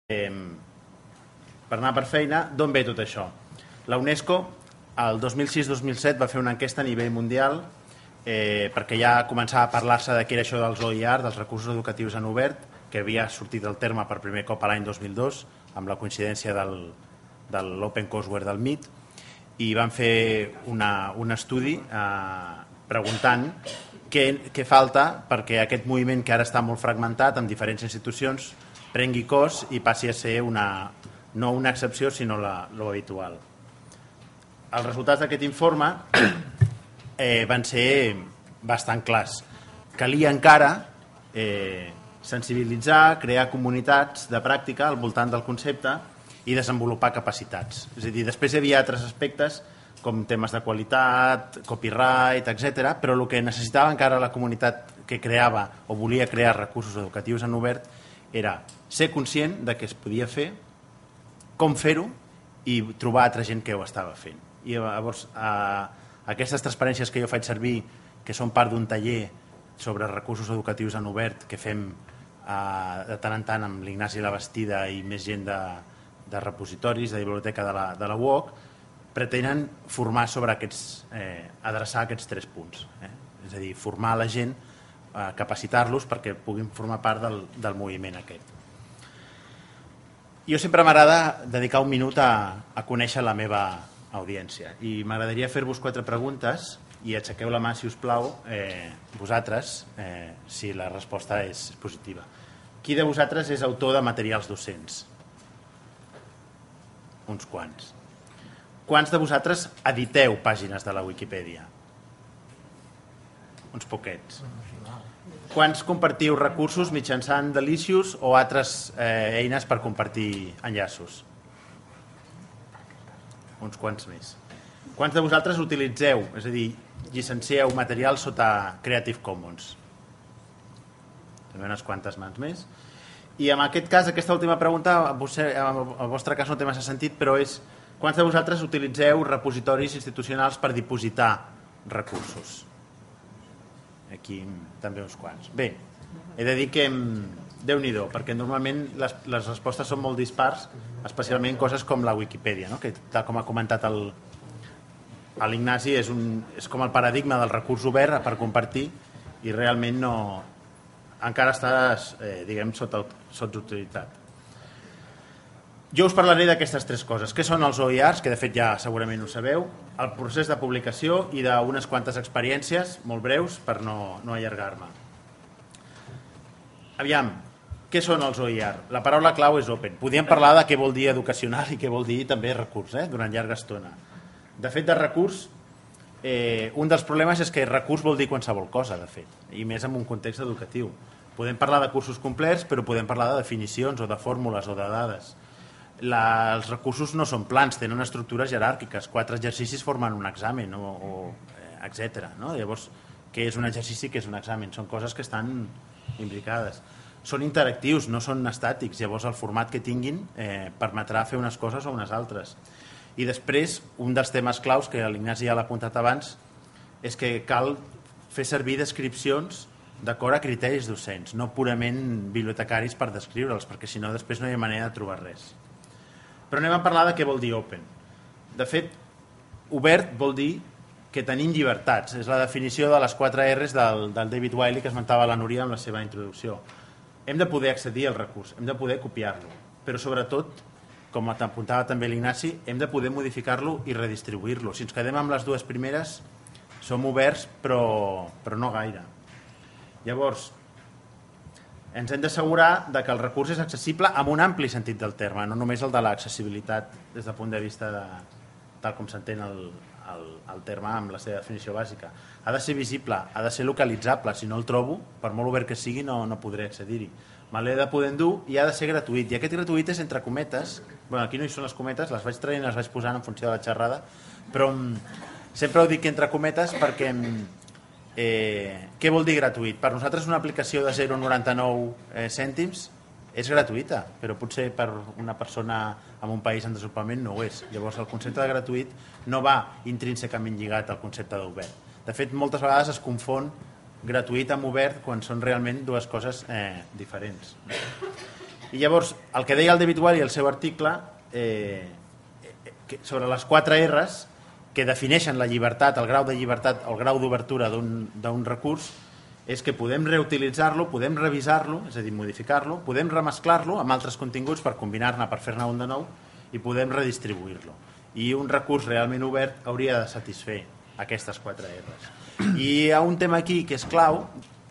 Per anar per feina, d'on ve tot això? La UNESCO, el 2006-2007, va fer una enquesta a nivell mundial perquè ja començava a parlar-se de què era això dels OER, dels recursos educatius en obert, que havia sortit del terme per primer cop a l'any 2002, amb la coincidència de l'Open Courseware del MIT, i van fer un estudi preguntant què falta perquè aquest moviment, que ara està molt fragmentat en diferents institucions, prengui cos i passi a ser no una excepció sinó lo habitual. Els resultats d'aquest informe van ser bastant clars. Calia encara sensibilitzar, crear comunitats de pràctica al voltant del concepte i desenvolupar capacitats. És a dir, després hi havia altres aspectes com temes de qualitat, copyright, etc. Però el que necessitava encara la comunitat que creava o volia crear recursos educatius en obert era ser conscient de què es podia fer, com fer-ho i trobar altra gent que ho estava fent. I llavors aquestes transparències que jo faig servir, que són part d'un taller sobre recursos educatius en obert que fem de tant en tant amb l'Ignasi Labastida i més gent de repositoris, de biblioteca de la UOC, pretenen formar sobre adreçar aquests 3 punts. És a dir, formar la gent, capacitar-los perquè puguin formar part del moviment aquest. Jo sempre m'agrada dedicar un minut a conèixer la meva audiència i m'agradaria fer-vos 4 preguntes i aixequeu la mà, si us plau, vosaltres, si la resposta és positiva. Qui de vosaltres és autor de materials docents? Uns quants. Quants de vosaltres editeu pàgines de la Wikipedia? Uns poquets. Quants compartiu recursos mitjançant Delicious o altres eines per compartir enllaços? Uns quants més. Quants de vosaltres utilitzeu, és a dir, llicencieu material sota Creative Commons? També unes quantes mans més. I en aquest cas, aquesta última pregunta, al vostre cas no té massa sentit, però és quants de vosaltres utilitzeu repositoris institucionals per dipositar recursos? Aquí també uns quants. Bé, he de dir que Déu-n'hi-do, perquè normalment les respostes són molt dispars, especialment coses com la Wikipedia, que tal com ha comentat l'Ignasi és com el paradigma del recurs obert per compartir i realment encara està diguem sota utilitat. Jo us parlaré d'aquestes 3 coses. Què són els OERs, que de fet ja segurament ho sabeu, el procés de publicació i d'unes quantes experiències molt breus per no allargar-me. Aviam, què són els OER? La paraula clau és open. Podríem parlar de què vol dir educacional i què vol dir també recurs, durant llarga estona. De fet, de recurs, un dels problemes és que recurs vol dir qualsevol cosa, de fet, i més en un context educatiu. Podem parlar de cursos complets, però podem parlar de definicions o de fórmules o de dades. Els recursos no són plans, tenen estructures jeràrquiques, 4 exercicis formen un examen, etc. Llavors, què és un exercici, què és un examen? Són coses que estan implicades. Són interactius, no són estàtics, llavors el format que tinguin permetrà fer unes coses o unes altres. I després, un dels temes claus, que l'Ignasi ja l'ha apuntat abans, és que cal fer servir descripcions d'acord a criteris docents, no purament bibliotecaris per descriure'ls, perquè si no després no hi ha manera de trobar res. Però anem a parlar de què vol dir open. De fet, obert vol dir que tenim llibertats. És la definició de les 4 R's del David Wiley que esmentava la Núria en la seva introducció. Hem de poder accedir al recurs, hem de poder copiar-lo, però sobretot, com apuntava també l'Ignasi, hem de poder modificar-lo i redistribuir-lo. Si ens quedem amb les 2 primeres, som oberts, però no gaire. Llavors, ens hem d'assegurar que el recurs és accessible amb un ampli sentit del terme, no només el de l'accessibilitat des del punt de vista tal com s'entén el terme amb la seva definició bàsica. Ha de ser visible, ha de ser localitzable. Si no el trobo, per molt obert que sigui, no podré accedir-hi. Me l'he de poder endur i ha de ser gratuït. I aquest gratuït és entre cometes. Aquí no hi són les cometes, les vaig traient i les vaig posant en funció de la xerrada, però sempre ho dic entre cometes perquè què vol dir gratuït? Per nosaltres una aplicació de 0,99 cèntims és gratuïta, però potser per una persona en un país en desenvolupament no ho és. Llavors el concepte de gratuït no va intrínsecament lligat al concepte d'obert. De fet, moltes vegades es confon gratuït amb obert quan són realment 2 coses diferents. I llavors, el que deia el David Wiley al seu article sobre les 4 R's que defineixen la llibertat, el grau de llibertat, el grau d'obertura d'un recurs, és que podem reutilitzar-lo, podem revisar-lo, és a dir, modificar-lo, podem remesclar-lo amb altres continguts per combinar-ne, per fer-ne un de nou, i podem redistribuir-lo. I un recurs realment obert hauria de satisfer aquestes 4 R's. I hi ha un tema aquí que és clau,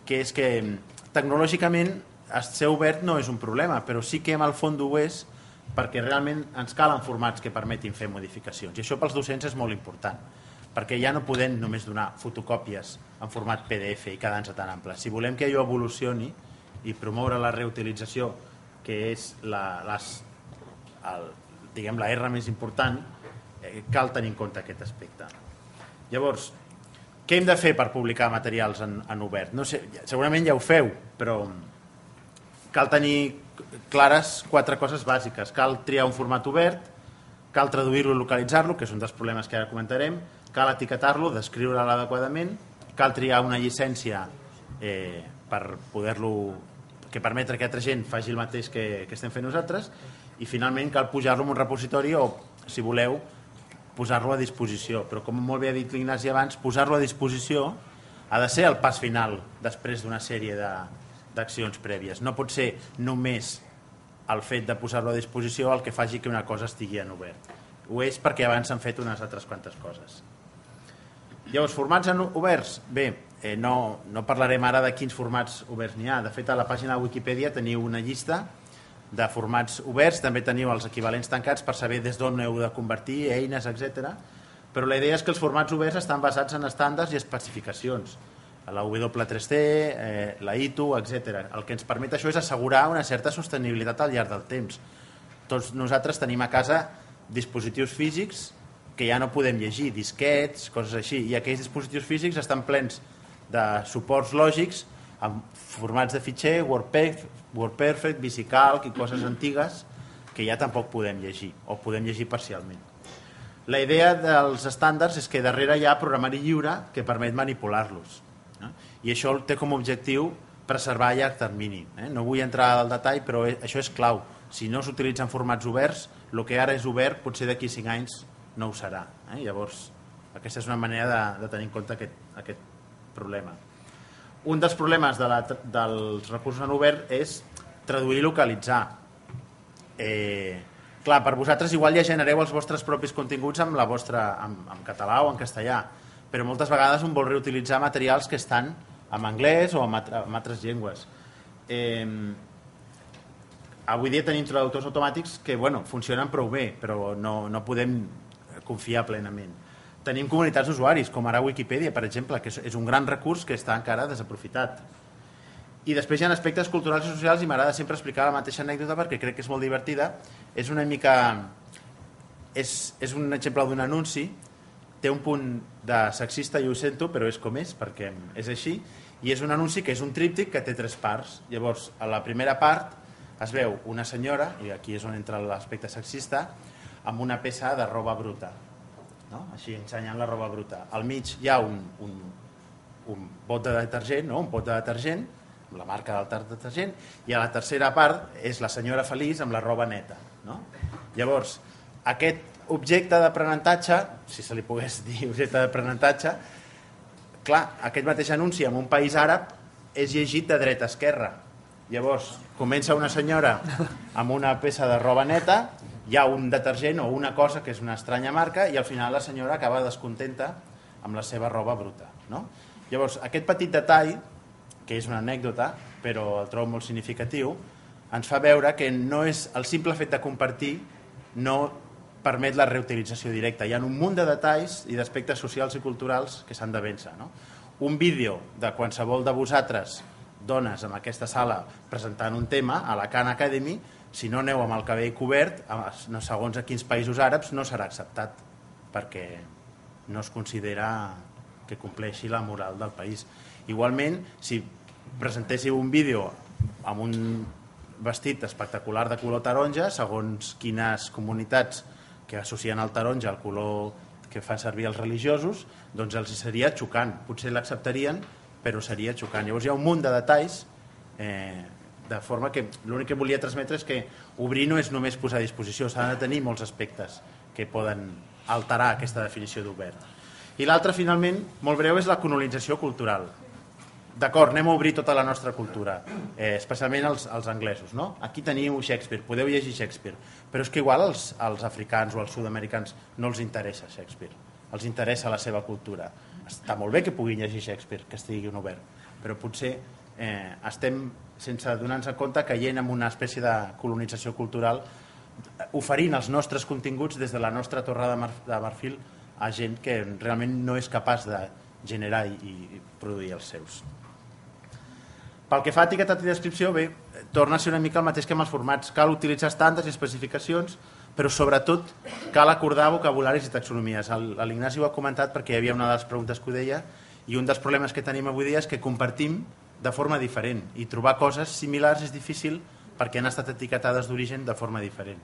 que és que tecnològicament ser obert no és un problema, però sí que en el fons ho és perquè realment ens calen formats que permetin fer modificacions. I això pels docents és molt important, perquè ja no podem només donar fotocòpies en format PDF i quedar-nos tan ample. Si volem que allò evolucioni i promoure la reutilització, que és la R més important, cal tenir en compte aquest aspecte. Llavors, què hem de fer per publicar materials en obert? No sé, segurament ja ho feu, però cal tenir clares 4 coses bàsiques. Cal triar un format obert, cal traduir-lo i localitzar-lo, que és un dels problemes que ara comentarem, cal etiquetar-lo, descriure'l adequadament, cal triar una llicència per poder-lo, que permetre que altra gent faci el mateix que estem fent nosaltres, i finalment cal pujar-lo en un repositori o, si voleu, posar-lo a disposició. Però com molt bé ha dit l'Ignasi abans, posar-lo a disposició ha de ser el pas final després d'una sèrie d'accions prèvies. No pot ser només el fet de posar-lo a disposició el que faci que una cosa estigui en obert. Ho és perquè abans s'han fet unes altres quantes coses. Llavors, formats oberts? Bé, no parlarem ara de quins formats oberts n'hi ha. De fet, a la pàgina de Wikipedia teniu una llista de formats oberts, també teniu els equivalents tancats per saber des d'on heu de convertir, eines, etc. Però la idea és que els formats oberts estan basats en estàndards i especificacions. La W3C, la ITU, etc. El que ens permet això és assegurar una certa sostenibilitat al llarg del temps. Tots nosaltres tenim a casa dispositius físics que ja no podem llegir, disquets, coses així, i aquells dispositius físics estan plens de suports lògics amb formats de fitxer, WordPerfect, VisiCalc i coses antigues que ja tampoc podem llegir, o podem llegir parcialment. La idea dels estàndards és que darrere hi ha programari lliure que permet manipular-los. I això té com a objectiu preservar a llarg termini. No vull entrar al detall, però això és clau. Si no s'utilitzen formats oberts, el que ara és obert potser d'aquí 5 anys no ho serà. Llavors, aquesta és una manera de tenir en compte aquest problema. Un dels problemes dels recursos en obert és traduir i localitzar. Clar, per vosaltres igual ja genereu els vostres propis continguts en català o en castellà, però moltes vegades un vol reutilitzar materials que estan en anglès o en altres llengües. Avui dia tenim traductors automàtics que funcionen prou bé, però no podem confiar plenament. Tenim comunitats d'usuaris, com ara Wikipedia, per exemple, que és un gran recurs que està encara desaprofitat. I després hi ha aspectes culturals i socials, i m'agrada sempre explicar la mateixa anècdota perquè crec que és molt divertida. És un exemple d'un anunci, té un punt de sexista, i ho sento, però és com és, perquè és així, i és un anunci que és un tríptic que té 3 parts. Llavors, a la primera part es veu una senyora, i aquí és on entra l'aspecte sexista, amb una peça de roba bruta, així ensenyant la roba bruta. Al mig hi ha un bot de detergent, un pot de detergent, amb la marca del detergent, i a la tercera part és la senyora feliç amb la roba neta. Llavors, aquest objecte d'aprenentatge, si se li pogués dir objecte d'aprenentatge, clar, aquest mateix anunci en un país àrab és llegit de dreta a esquerra. Llavors, comença una senyora amb una peça de roba neta, hi ha un detergent o una cosa que és una estranya marca, i al final la senyora acaba descontenta amb la seva roba bruta. Llavors, aquest petit detall, que és una anècdota, però el trobo molt significatiu, ens fa veure que no és el simple fet de compartir no permet la reutilització directa. Hi ha un munt de detalls i d'aspectes socials i culturals que s'han de vèncer. Un vídeo de qualsevol de vosaltres, dones en aquesta sala, presentant un tema a la Khan Academy, si no aneu amb el cabell cobert, segons a quins països àrabs, no serà acceptat, perquè no es considera que compleixi la moral del país. Igualment, si presentéssiu un vídeo amb un vestit espectacular de color taronja, segons quines comunitats que associen el taronja al color que fan servir els religiosos, doncs els seria xocant. Potser l'acceptarien, però seria xocant. Llavors hi ha un munt de detalls de forma que l'únic que volia transmetre és que obrir no és només posar a disposició, s'ha de tenir molts aspectes que poden alterar aquesta definició d'obert. I l'altre, finalment, molt breu, és la colonització cultural. D'acord, anem a obrir tota la nostra cultura, especialment els anglesos, no? Aquí teniu Shakespeare, podeu llegir Shakespeare, però és que igual als africans o als sud-americans no els interessa Shakespeare, els interessa la seva cultura. Està molt bé que puguin llegir Shakespeare, que estigui obert, però potser estem, sense donar-nos compte, caient en una espècie de colonització cultural, oferint els nostres continguts des de la nostra torre de marfil a gent que realment no és capaç de generar i produir els seus. Pel que fa a etiquetat i descripció, bé, torna a ser una mica el mateix que amb els formats. Cal utilitzar estàndards i especificacions, però sobretot cal acordar vocabularis i taxonomies. L'Ignasi ho ha comentat perquè hi havia una de les preguntes que ho deia, i un dels problemes que tenim avui dia és que compartim de forma diferent, i trobar coses similars és difícil perquè han estat etiquetades d'origen de forma diferent.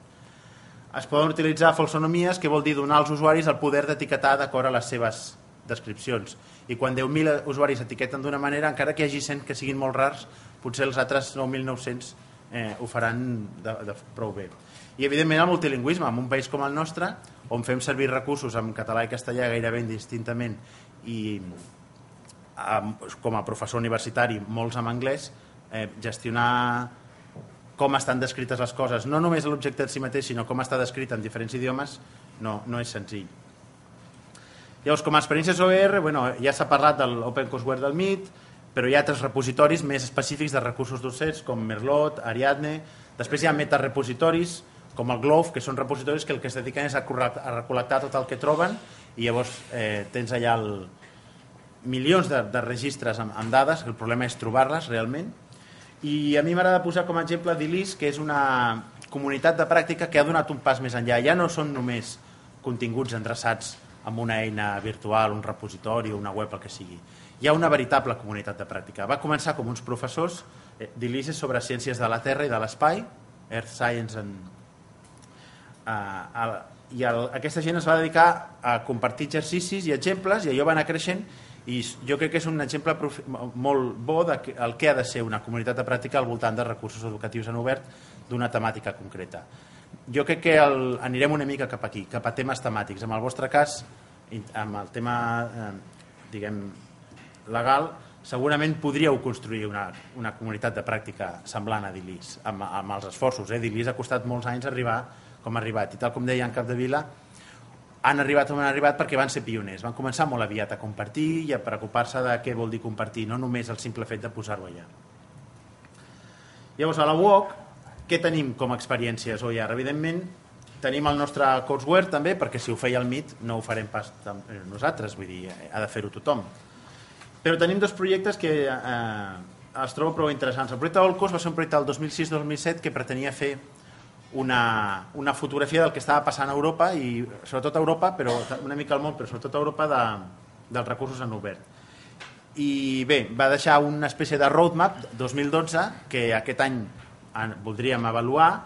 Es poden utilitzar falsonomies, que vol dir donar als usuaris el poder d'etiquetar d'acord a les seves descripcions. I quan 10.000 usuaris etiqueten d'una manera, encara que hi hagi 100 que siguin molt rars, potser els altres 9.900 ho faran de prou bé. I evidentment el multilingüisme, en un país com el nostre, on fem servir recursos en català i castellà gairebé indistintament i com a professor universitari molts en anglès, gestionar com estan descrites les coses, no només l'objecte en si mateix, sinó com està descrit en diferents idiomes, no és senzill. Llavors, com a experiències OER, ja s'ha parlat de l'Open Courseware del MIT, però hi ha altres repositoris més específics de recursos docents, com Merlot, Ariadne. Després hi ha metarepositoris, com el Glove, que són repositoris que el que es dediquen és a recol·lectar tot el que troben, i llavors tens allà milions de registres amb dades, el problema és trobar-les realment. I a mi m'agrada posar com a exemple DILIS, que és una comunitat de pràctica que ha donat un pas més enllà. Ja no són només continguts endreçats amb una eina virtual, un repositori o una web, el que sigui. Hi ha una veritable comunitat de pràctica. Va començar com uns professors, DILIS és sobre ciències de la Terra i de l'espai, Earth Science i aquesta gent es va dedicar a compartir exercicis i exemples, i allò va anar creixent, i jo crec que és un exemple molt bo del que ha de ser una comunitat de pràctica al voltant de recursos educatius en obert d'una temàtica concreta. Jo crec que anirem una mica cap aquí, cap a temes temàtics. En el vostre cas, amb el tema legal, segurament podríeu construir una comunitat de pràctica semblant a DILIS, amb els esforços. DILIS ha costat molts anys arribar com ha arribat, i tal com deia en Capdevila, han arribat on han arribat perquè van ser pioners, van començar molt aviat a compartir i a preocupar-se de què vol dir compartir, no només el simple fet de posar-ho allà. Llavors, a la UOC, què tenim com a experiències OER? Evidentment, tenim el nostre courseware també, perquè si ho feia el MIT no ho farem pas nosaltres, vull dir, ha de fer-ho tothom. Però tenim dos projectes que els trobo prou interessants. El projecte Olcos va ser un projecte del 2006-2007 que pretenia fer una fotografia del que estava passant a Europa, i sobretot a Europa, però una mica al món, però sobretot a Europa, dels recursos en obert. I bé, va deixar una espècie de roadmap 2012 que aquest any voldríem avaluar,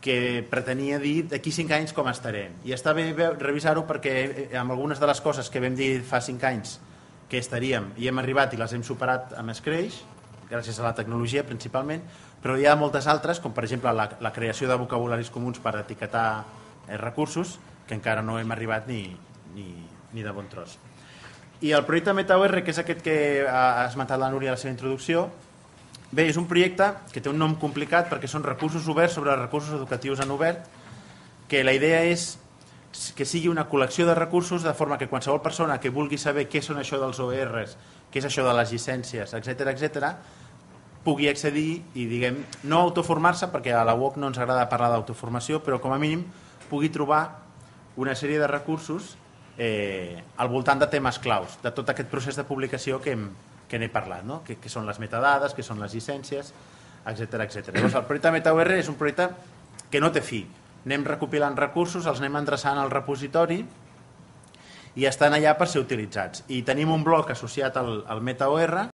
que pretenia dir d'aquí 5 anys com estarem. I està bé revisar-ho perquè amb algunes de les coses que vam dir fa 5 anys que estaríem i hem arribat i les hem superat amb escreix, gràcies a la tecnologia principalment, però hi ha moltes altres, com per exemple la creació de vocabularis comuns per etiquetar recursos, que encara no hem arribat ni de bon tros. I el projecte MetaOR, que és aquest que ha esmentat la Núria a la seva introducció, bé, és un projecte que té un nom complicat perquè són recursos oberts sobre recursos educatius en obert, que la idea és que sigui una col·lecció de recursos de forma que qualsevol persona que vulgui saber què són això dels OERs, què és això de les llicències, etc., pugui accedir i, no autoformar-se, perquè a la UOC no ens agrada parlar d'autoformació, però com a mínim pugui trobar una sèrie de recursos al voltant de temes claus, de tot aquest procés de publicació que n'he parlat, no? Que són les metadades, que són les llicències, etc. Llavors, el projecte MetaOR és un projecte que no té fi. Anem recopilant recursos, els anem endreçant al repositori i estan allà per ser utilitzats. I tenim un bloc associat al MetaOR